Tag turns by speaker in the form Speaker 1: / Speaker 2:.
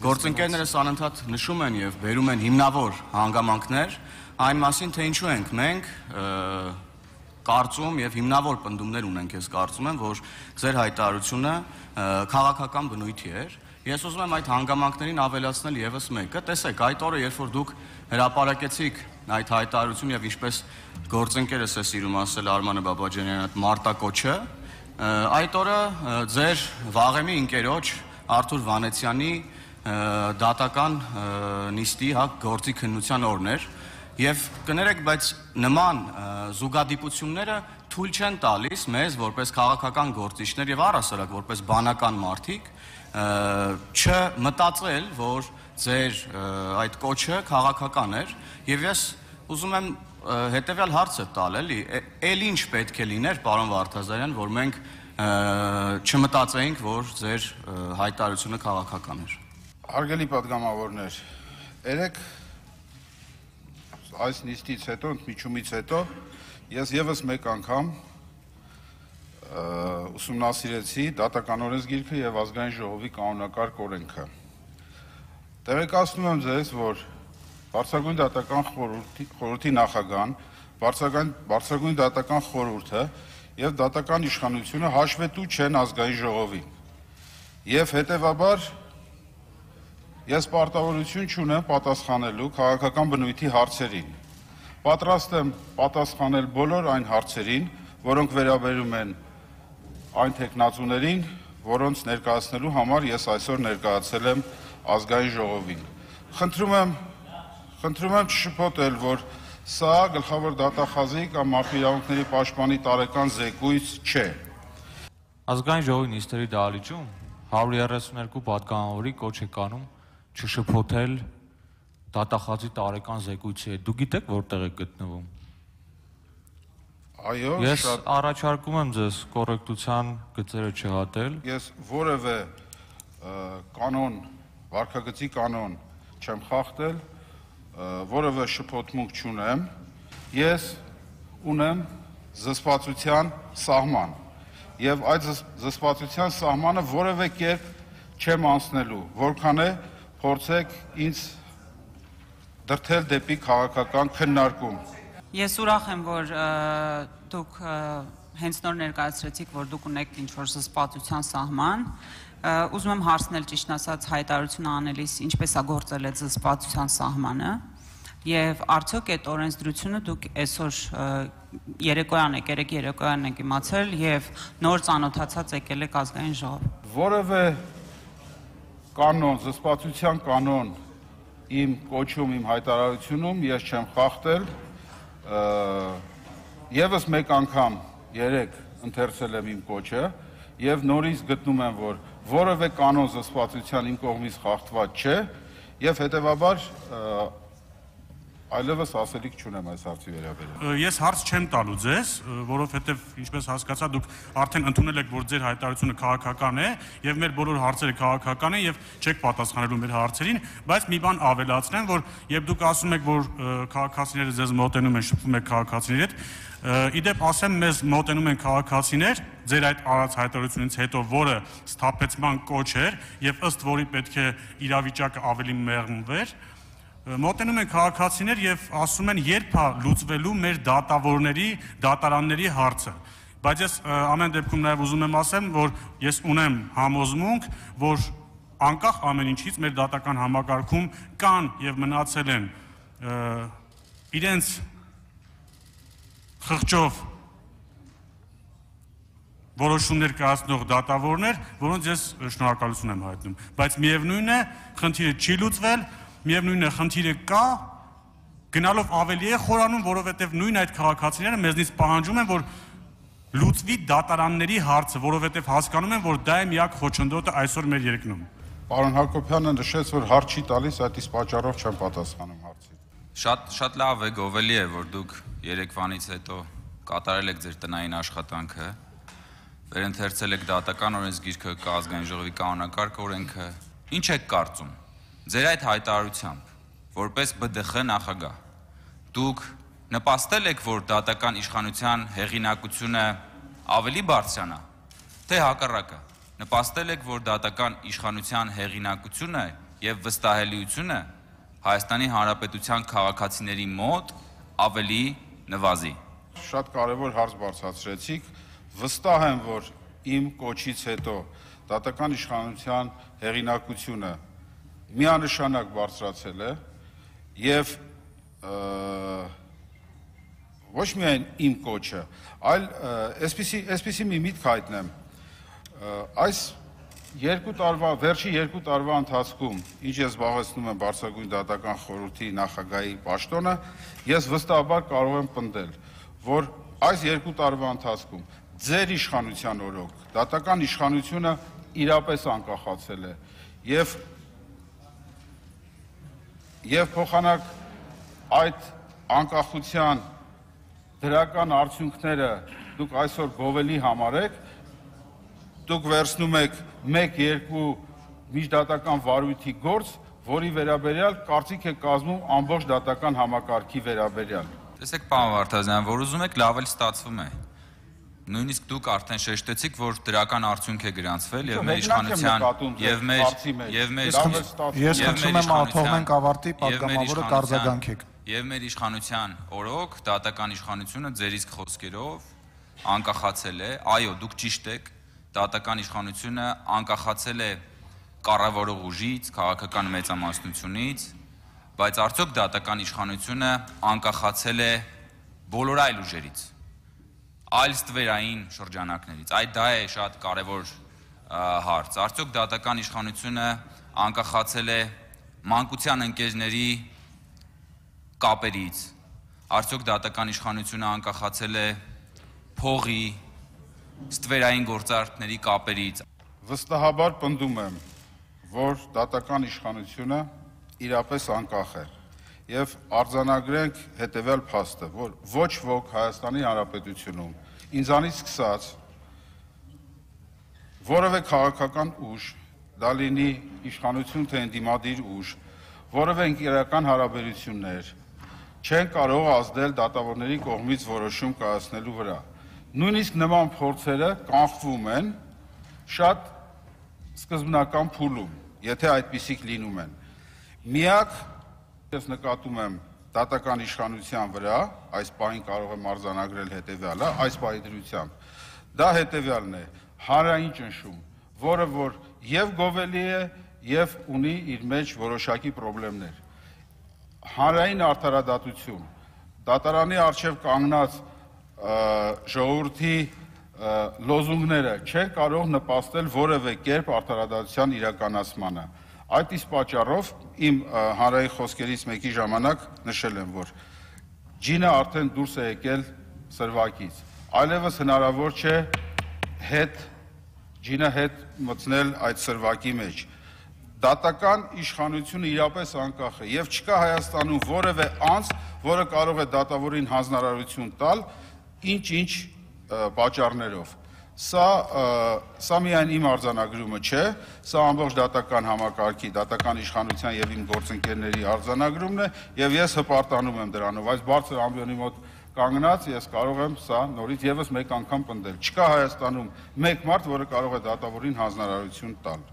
Speaker 1: Գործընկերներս անընդհատ նշում են եւ բերում են հիմնավոր հանգամանքներ այն մասին, թե ինչու ենք մենք կարծում եւ հիմնավոր պնդումներ ունենք, ես կարծում եմ, որ ձեր հայտարարությունը քաղաքական բնույթի էր։ Ես ուզում եմ այդ հանգամանքներին ավելացնել եւս մեկը։ Տեսեք, այդ օրը, երբ որ դուք հրապարակեցիք այդ հայտարարությունը եւ ինչպես գործընկերս է սիրում ասել Արմանը Բաբաջանյանը, այդ մարտակոչը, այդ օրը ձեր վաղեմի ընկերոջ Արթուր Վանեցյանի դատական նիստի գործի քննության օրն էր եւ կներեք, բայց նման զուգադիպությունները թույլ չեն տալիս մեզ որպես քաղաքական գործիչներ եւ առհասարակ որպես բանական մարդիկ չմտածել, որ ձեր այդ կոչը քաղաքական էր եւ ես ուզում եմ հետեւյալ հարցը տալ, էլի ինչ պետք է լիներ, պարոն Վարդազարյան, որ մենք չմտածեինք, որ ձեր հայտարարությունը քաղաքական էր։
Speaker 2: Հարգելի պատգամավորներ, երեք այս նիստից հետո, ընդմիջումից հետո ես եւս մեկ անգամ ուսումնասիրեցի դատական օրենսգիրքը եւ ազգային ժողովի կանոնակարգ օրենքը։ Տեղեկացնում եմ ձեզ, որ Բարձրագույն դատական խորհրդի նախագահան, Բարձրագույն դատական խորհուրդը եւ դատական իշխանությունը հաշվետու չեն ազգային ժողովին։ Եվ հետեւաբար ես պարտավորություն չունեմ պատասխանելու քաղաքական բնույթի հարցերին։ Պատրաստ եմ պատասխանել բոլոր այն հարցերին, որոնք վերաբերում են այն թեկնածուներին, որոնց ներկայացնելու համար ես այսօր ներկայացել եմ ազգային ժողովին։ Խնդրում եմ չշփոթել, որ սա գլխավոր դատախազի կամ մարդու իրավունքների պաշտպանի տարեկան զեկույց չէ։
Speaker 3: Ազգային ժողովի նիստերի դահլիճում 132 պատգամավորի կոչ է կանում չշփոթել դատախազի տարեկան զեկույցի հետ։ Դու գիտեք որտեղ է գտնվում։
Speaker 2: Այո,
Speaker 3: ես առաջարկում եմ ձեզ կոռեկտության գծերը չհատել։
Speaker 2: Ես որևէ կանոն, վարքագծի կանոն չեմ խախտել, որևէ շփոթմունք չունեմ, ես ունեմ զսպվածության սահման եւ այդ զսպվածության սահմանը որևէ կերպ չեմ անցնելու, որքան է փորձեք ինձ դրդել դեպի քաղաքական քննարկում։
Speaker 4: Ես ուրախ եմ, որ դուք հենց նոր ներկայացրեցիք, որ դուք ունեք ինչ-որ զսպվածության սահման։ Ուզում եմ հարցնել, ճիշտ ասած, հայտարարությունը անելիս ինչպես է գործել այդ զսպվածության սահմանը եւ արդյոք այդ օրենսդրությունը դուք այսօր երեք երեկոյան եք իմացել եւ նոր ծանոթացած եկել եք ազգային ժողով։
Speaker 2: Որևէ կանոն, զսպվածության կանոն իմ կոչում, իմ հայտարարությունում ես չեմ խախտել, եւս մեկ անգամ երեք ընթերցել եմ իմ կոչը եւ նորից գտնում եմ, որ որևէ կանոն զսպվածության իմ կողմից խախտված չէ եւ հետեւաբար այլևս ասելիք չունեմ այս հարցի վերաբերյալ։
Speaker 5: Ես հարց չեմ տալու ձեզ, որովհետև ինչպես հասկացա, դուք արդեն ընդունել եք, որ ձեր հայտարարությունը քաղաքական է եւ մեր բոլոր հարցերը քաղաքական են եւ չեք պատասխանելու մեր հարցերին, բայց մի բան ավելացնեմ, որ երբ դուք ասում եք, որ քաղաքացիները ձեզ մոտենում են, շփվում եք քաղաքացիների հետ, իդեպ ասեմ, մեզ մոտենում են քաղաքացիներ ձեր այդ արած հայտարարությունից հետո, որը սթափեցման կոչ էր եւ ըստ որի պետք է իրավիճակը ավելի մեղմվեր, մոտենում են քաղաքացիներ եւ ասում են երբ է լուծվելու մեր դատավորների, դատարանների հարցը։ Բայց ես ամեն դեպքում նաեւ ուզում եմ ասեմ, որ ես ունեմ համոզմունք, որ անկախ ամեն ինչից մեր դատական համակարգում կան եւ մնացել են իրենց խղճով որոշումներ կայացնող դատավորներ, որոնց ես շնորհակալություն եմ հայտնում, բայց միևնույն է, խնդիրը չի լուծվել, միևնույն է, խնդիրը կա, գնալով ավելի է խորանում, որովհետև նույն այդ քաղաքացիները մեզնից պահանջում են, որ լուծվի դատարանների հարցը, որովհետև հասկանում են, որ դա է միակ խոչընդոտը այսօր մեր երկրում։
Speaker 2: Պարոն Հակոբյանը նշեց, որ հարց չի տալիս, այդ իսկ պատճառով չեմ պատասխանում հարցին։
Speaker 6: Շատ լավ է, գովելի է, որ դուք երեկվանից հետո կատարել եք ձեր տնային աշխատանքը, վերընթերցել եք դատական օրենսգիրքը, ազգային ժողովի կանոնակարգ օրենքը, ինչ եք կարծում ձեր այդ հայտարարությամբ, որպես ԲԴԽ նախագահ, դուք նպաստել եք, որ դատական իշխանության հեղինակությունը ավելի բարձրանա, թե հակառակը, նպաստել եք, որ դատական իշխանության հեղինակությունը եւ վստահելիությունը Հայաստանի Հանրապետության քաղաքացիների մոտ ավելի նվազի։
Speaker 2: Շատ կարևոր հարց բարձրացրեցիք, վստահ եմ, որ իմ կոչից հետո դատական իշխանության հեղինակությունը միանշանակ բարձրացել է եւ ոչ միայն իմ կոչը, այլ այսպիսի մի միտք հայտնեմ, այս վերջի երկու տարվա ընթացքում, ինչ ես զբաղեցնում եմ Բարձրագույն դատական խորհրդի նախագահի պաշտոնը, ես վստահաբար կարող եմ պնդել, որ այս երկու տարվա ընթացքում ձեր իշխանության օրոք դատական իշխանությունը իրապես անկախացել է եւ փոխանակ այդ անկախության դրական արդյունքները դուք այսօր գովելի համարեք, դուք վերցնում եք 1-2 միջդատական վարույթի գործ, որի վերաբերյալ կարծիք է կազմում ամբողջ դատական համակարգի վերաբերյալ։
Speaker 6: Տեսեք, պարոն Վարդազյան, որ ուզում եք, լավ էլ ստացվում է։ Նույնիսկ դուք արդեն շեշտեցիք, որ դրական արդյունք է գրանցվել եւ մեր իշխանության
Speaker 7: Ես խնդրում եմ աթողնենք ավարտի, պատգամավորը կարձագանքեք։
Speaker 6: Եվ մեր իշխանության օրոք դատական իշխանությունը ձեր իսկ խոսքերով անկախացել է, այո, դուք ճիշտ եք, դատական իշխանությունը անկախացել է կառավարող ուժից, քաղաքական մեծամասնությունից, բայց արդյոք դատական իշխանությունը անկախացել է բոլոր այլ ուժերից, այլ ստվերային շրջանակներից, այդ դա է շատ կարևոր հարց, արդյոք դատական իշխանությունը անկախացել է մանկության ընկերների կապերից, արդյոք դատական իշխանությունը անկախացել է փողի, ստվերային գործարքների կապերից։
Speaker 2: Վստահաբար պնդում եմ, որ դատական իշխանությունը իրապես անկախ է եւ արձանագրենք հետեւյալ փաստը, որ ոչ ոք Հայաստանի Հանրապետությունում ինձանից սկսած որևէ քաղաքական ուժ, դա լինի իշխանություն թե ընդդիմադիր ուժ, որևէ ընկերական հարաբերություններ չեն կարող ազդել դատավորների կողմից որոշում կայացնելու վրա։ Նույնիսկ նման փորձերը կանխվում են շատ սկզբնական փուլում, եթե այդպիսիք լինում են։ Միակ ես նկատում եմ դատական իշխանության վրա, այս պահին կարող եմ արձանագրել հետևյալը, այս պահի դրությամբ, դա հետևյալն է, հանրային ճնշում, որը որ եւ գովելի է եւ ունի իր մեջ որոշակի խնդիրներ։ Հանրային արդարադատություն, դատարանի առջև կանգնած ժողովրդի լոզունգները չեն կարող նպաստել որևէ կերպ արդարադատության իրականացմանը։ Այդ իսկ պատճառով իմ հանրային խոսքերից մեկի ժամանակ նշել եմ, որ ջինը արդեն դուրս է եկել սրվակից, այլևս հնարավոր չէ ջինը հետ մտցնել այդ սրվակի մեջ։ Դատական իշխանությունը իրապես անկախ է եւ չկա Հայաստանում որևէ անձ, որը կարող է դատավորին հանձնարարություն տալ ինչ-ինչ պատճառներով։ Սա միայն իմ արձանագրումը չէ, սա ամբողջ դատական համակարգի, դատական իշխանության եւ իմ գործընկերների արձանագրումն է եւ ես հպարտանում եմ դրանով։ Այս բարձր ամբիոնի մոտ կանգնած ես կարող եմ սա նորից եւս մեկ անգամ պնդել։ Չկա Հայաստանում մեկ մարդ, որը կարող է դատավորին հանձնարարություն տալ։